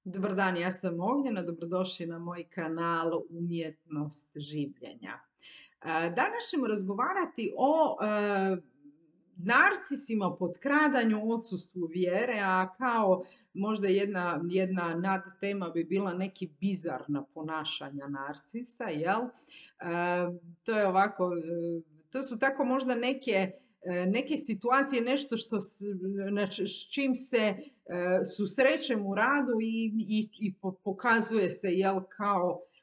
Dobar dan, ja sam Ognjena, dobrodošli na moj kanal Umjetnost življenja. Danas ćemo razgovarati o narcisima, potkradanju, odsustvu vjere, a kao možda jedna nadtema bi bila neki bizarna ponašanja narcisa, jel? To je ovako, to su tako možda neke situacije, nešto s čim se susrećem u radu i pokazuje se, jel,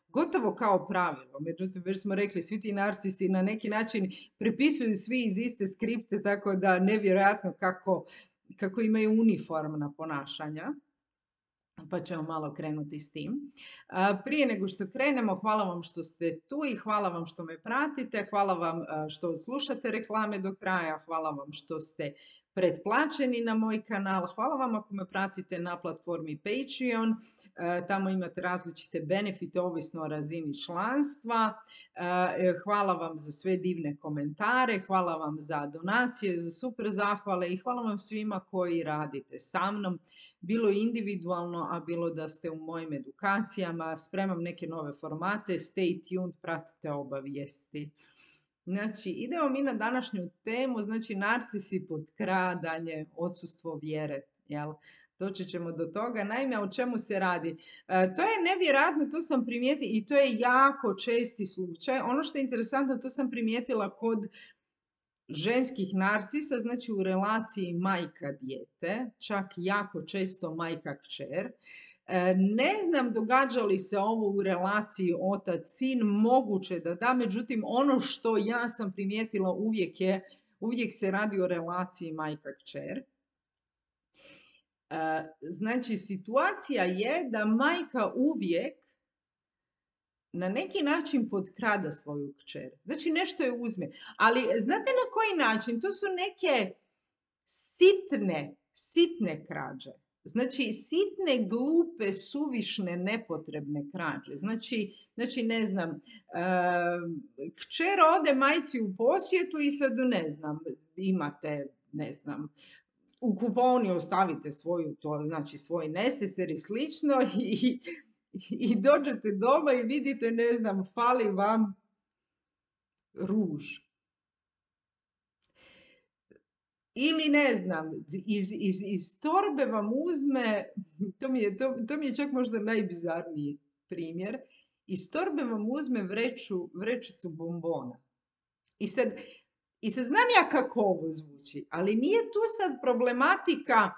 gotovo kao pravilo. Međutim, već smo rekli, svi ti narcisi na neki način prepisuju svi iz iste skripte, tako da nevjerojatno kako imaju uniformna ponašanja. Pa ćemo malo krenuti s tim. Prije nego što krenemo, hvala vam što ste tu i hvala vam što me pratite, hvala vam što slušate reklame do kraja, hvala vam što ste pretplaćeni na moj kanal, hvala vam ako me pratite na platformi Patreon, tamo imate različite benefite ovisno o razini članstva, hvala vam za sve divne komentare, hvala vam za donacije, za super zahvale i hvala vam svima koji radite sa mnom, bilo individualno, a bilo da ste u mojim edukacijama, spremam neke nove formate, stay tuned, pratite obavijesti. Znači, idemo mi na današnju temu, znači narcisi, potkradanje, odsustvo vjere, jel? Doći ćemo do toga. Naime, o čemu se radi? To je nevjerojatno, to sam primijetila i to je jako česti slučaj. Ono što je interesantno, to sam primijetila kod ženskih narcisa, znači u relaciji majka-dijete, čak jako često majka-kćer. Ne znam događa li se ovo u relaciji otac-sin, moguće da da, međutim ono što ja sam primijetila uvijek se radi o relaciji majka-kćer. Znači situacija je da majka uvijek na neki način potkrada svoju kćer. Znači nešto je uzme. Ali znate na koji način? To su neke sitne krađe. Znači sitne, glupe, suvišne, nepotrebne krađe. Znači ne znam, kćer ode majci u posjetu i sad ne znam, imate, ne znam, u kupovni ostavite svoj neseser i slično i dođete doma i vidite, ne znam, fali vam ruž. Ili ne znam, iz torbe vam uzme, to mi je čak možda najbizarniji primjer, iz torbe vam uzme vrećicu bombona. I sad znam ja kako ovo zvuči, ali nije tu sad problematika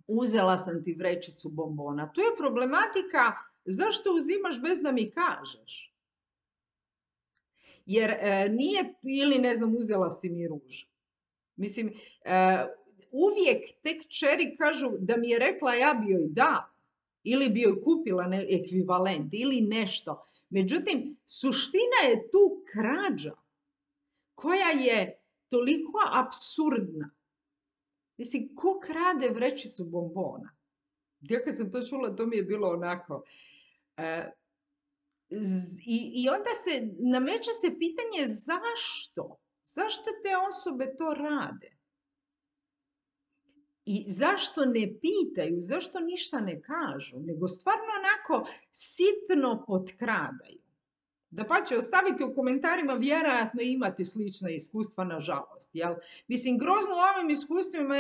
uzela sam ti vrećicu bombona. Tu je problematika zašto uzimaš bez da mi kažeš. Jer nije, ili ne znam, uzela si mi ruž. Mislim, uvijek te kćeri kažu da mi je rekla ja bi joj da. Ili bi joj kupila ekvivalent ili nešto. Međutim, suština je tu krađa koja je toliko apsurdna. Mislim, ko krade vrećicu bombona? Ja kad sam to čula, to mi je bilo onako. I onda se nameće se pitanje zašto? Zašto te osobe to rade? I zašto ne pitaju, zašto ništa ne kažu, nego stvarno onako sitno potkradaju. Dapače, ostavite u komentarima, vjerojatno imate slična iskustva, nažalost. Jel? Mislim, grozno u ovim iskustvima,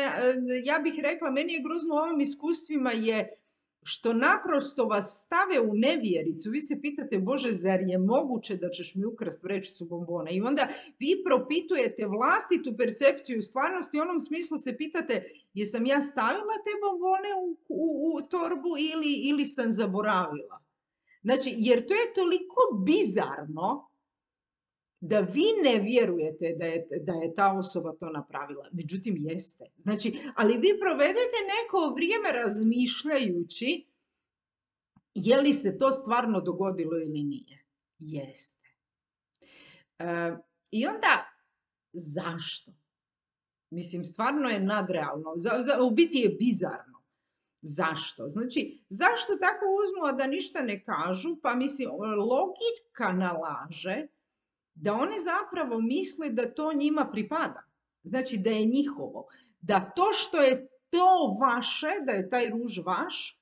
ja bih rekla, meni je grozno u ovim iskustvima je što naprosto vas stave u nevjericu. Vi se pitate, Bože, zar je moguće da ćeš mi ukrasti vrećicu bombona? I onda vi propitujete vlastitu percepciju stvarnosti, u onom smislu se pitate, jesam ja stavila te bombone u torbu ili sam zaboravila? Znači, jer to je toliko bizarno da vi ne vjerujete da je ta osoba to napravila. Međutim, jeste. Znači, ali vi provedete neko vrijeme razmišljajući je li se to stvarno dogodilo ili nije. Jeste. I onda, zašto? Mislim, stvarno je nadrealno. U biti je bizarno. Zašto? Znači, zašto tako uzmu, a da ništa ne kažu? Pa mislim, logika nalaže da oni zapravo misle da to njima pripada. Znači, da je njihovo. Da to što je to vaše, da je taj ruž vaš,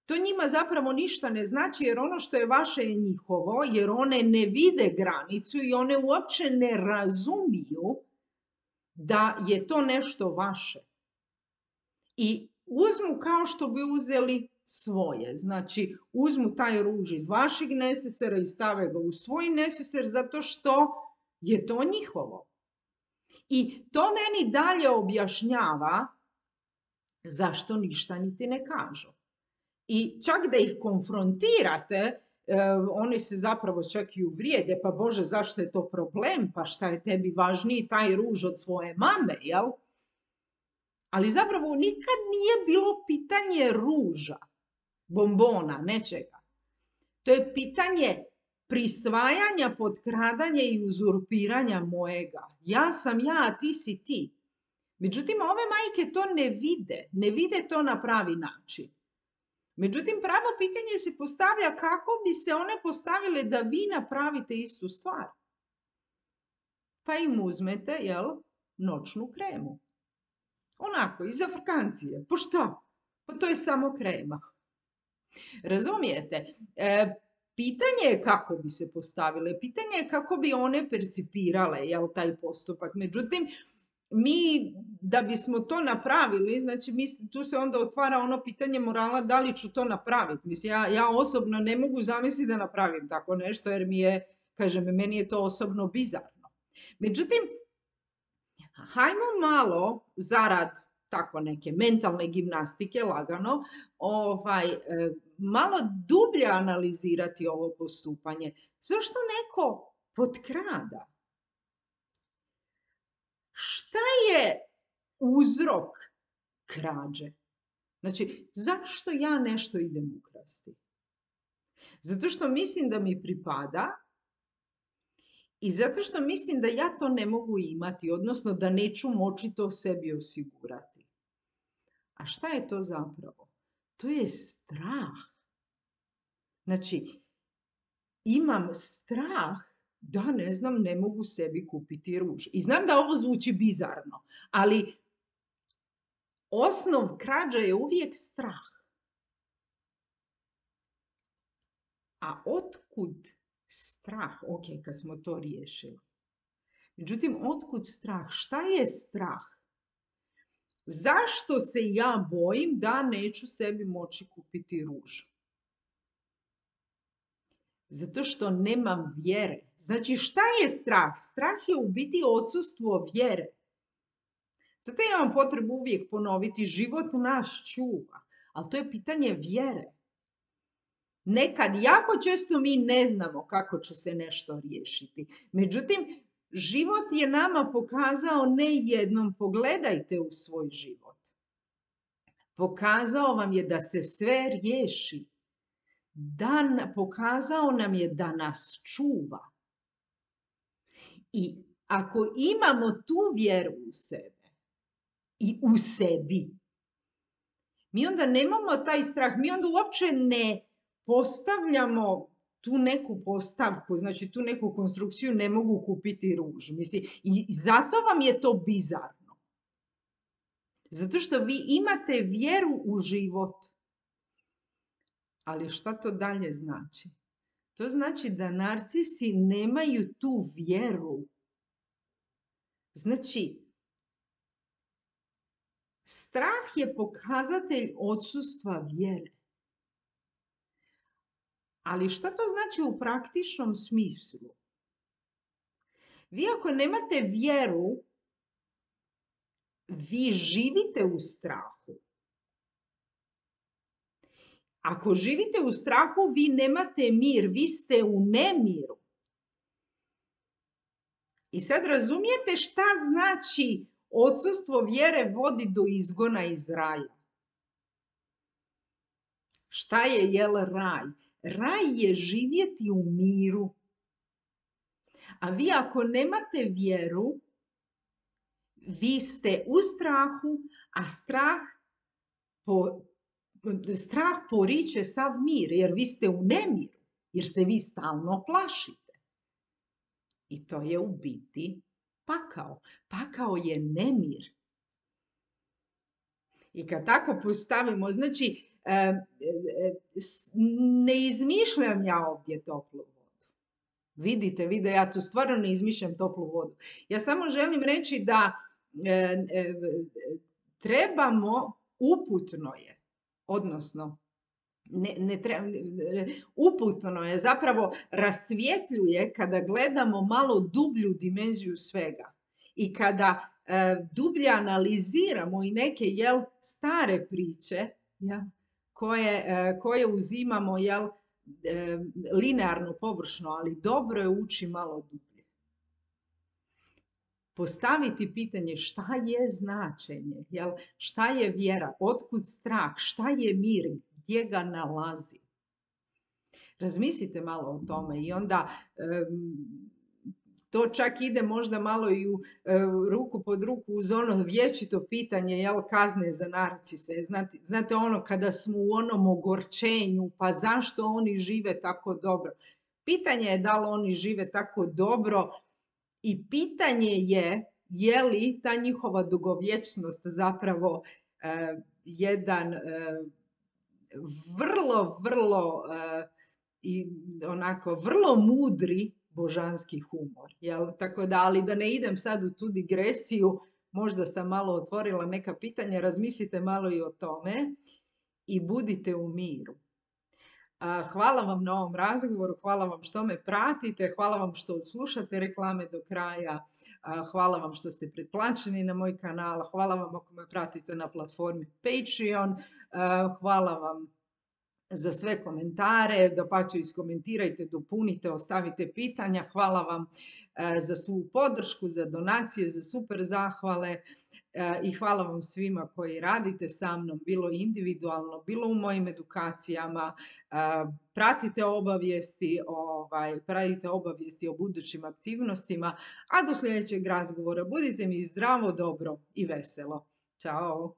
To njima zapravo ništa ne znači jer ono što je vaše je njihovo, jer one ne vide granicu i one uopće ne razumiju da je to nešto vaše. I uzmu kao što bi uzeli svoje. Znači, uzmu taj ruž iz vašeg nesesera i stave ga u svoj neseser zato što je to njihovo. I to meni dalje objašnjava zašto ništa niti ne kažu. I čak da ih konfrontirate, oni se zapravo čak i uvrijede, pa Bože, zašto je to problem? Pa šta je tebi važniji taj ruž od svoje mame, jel? Ali zapravo nikad nije bilo pitanje ruža, bombona, nečega. To je pitanje prisvajanja, potkradanja i uzurpiranja mojega. Ja sam ja, a ti si ti. Međutim, ove majke to ne vide to na pravi način. Međutim, pravo pitanje se postavlja kako bi se one postavile da vi napravite istu stvar. Pa im uzmete, jel, noćnu kremu. Onako, iz Afrikancije. Pa šta? Pa to je samo krema. Razumijete? Pitanje je kako bi se postavile, pitanje je kako bi one percipirale, jel, taj postupak. Međutim, mi, da bismo to napravili, znači tu se onda otvara ono pitanje morala da li ću to napraviti. Mislim, ja osobno ne mogu zamisliti da napravim tako nešto jer meni je to osobno bizarno. Međutim, hajmo malo zarad tako neke mentalne gimnastike, lagano, malo dublje analizirati ovo postupanje. Zašto neko potkrada? Šta je uzrok krađe? Znači, zašto ja nešto idem ukrasti? Zato što mislim da mi pripada i zato što mislim da ja to ne mogu imati, odnosno da neću moći to sebi osigurati. A šta je to zapravo? To je strah. Znači, imam strah da, ne mogu sebi kupiti ruž. I znam da ovo zvuči bizarno, ali osnov krađe je uvijek strah. A otkud strah? Ok, kad smo to riješili. Međutim, otkud strah? Šta je strah? Zašto se ja bojim da neću sebi moći kupiti ruž? Zato što nemam vjere. Znači, šta je strah? Strah je u biti odsustvo vjere. Zato ja imam potrebu uvijek ponoviti, život nas čuva, ali to je pitanje vjere. Nekad, jako često mi ne znamo kako će se nešto riješiti. Međutim, život je nama pokazao ne jednom, pogledajte u svoj život. Pokazao vam je da se sve riješi. Pokazao nam je da nas čuva. I ako imamo tu vjeru u sebe i u sebi, mi onda nemamo taj strah, mi onda uopće ne postavljamo tu neku postavku, znači tu neku konstrukciju ne mogu kupiti ruž. Mislim, i zato vam je to bizarno. Zato što vi imate vjeru u život. Ali šta to dalje znači? To znači da narcisi nemaju tu vjeru. Znači, strah je pokazatelj odsustva vjere. Ali šta to znači u praktičnom smislu? Vi ako nemate vjeru, vi živite u strahu. Ako živite u strahu, vi nemate mir, vi ste u nemiru. I sad razumijete šta znači odsustvo vjere vodi do izgona iz raja? Šta je, jel, raj? Raj je živjeti u miru. A vi ako nemate vjeru, vi ste u strahu, a strah poriče sav mir, jer vi ste u nemiru, jer se vi stalno plašite. I to je u biti pakao. Pakao je nemir. I kad tako postavimo, znači, Ne izmišljam ja ovdje toplu vodu. Vidite, ja tu stvarno ne izmišljam toplu vodu. Ja samo želim reći da trebamo, uputno je, odnosno uputno je, zapravo rasvjetljuje kada gledamo malo dublju dimenziju svega i kada dublje analiziramo i neke stare priče koje uzimamo linearno, površno, ali dobro je ući malo dublje. Postaviti pitanje šta je značenje, šta je vjera, otkud strah, šta je mir, gdje ga nalazi. Razmislite malo o tome i onda to čak ide možda malo i u ruku pod ruku uz ono vječito pitanje kazne za narcise. Znate ono kada smo u onom ogorčenju, pa zašto oni žive tako dobro? Pitanje je da li oni žive tako dobro i pitanje je li ta njihova dugovječnost zapravo jedan vrlo mudri božanski humor. Tako da, ali da ne idem sad u tu digresiju, možda sam malo otvorila neka pitanja, razmislite malo i o tome i budite u miru. Hvala vam na ovom razgovoru, hvala vam što me pratite, hvala vam što slušate reklame do kraja, hvala vam što ste pretplaćeni na moj kanal, hvala vam ako me pratite na platformi Patreon, hvala vam za sve komentare, dapače iskomentirajte, dopunite, ostavite pitanja, hvala vam za svu podršku, za donacije, za super zahvale. I hvala vam svima koji radite sa mnom, bilo individualno, bilo u mojim edukacijama. Pratite obavijesti o budućim aktivnostima, a do sljedećeg razgovora budite mi zdravo, dobro i veselo. Ćao!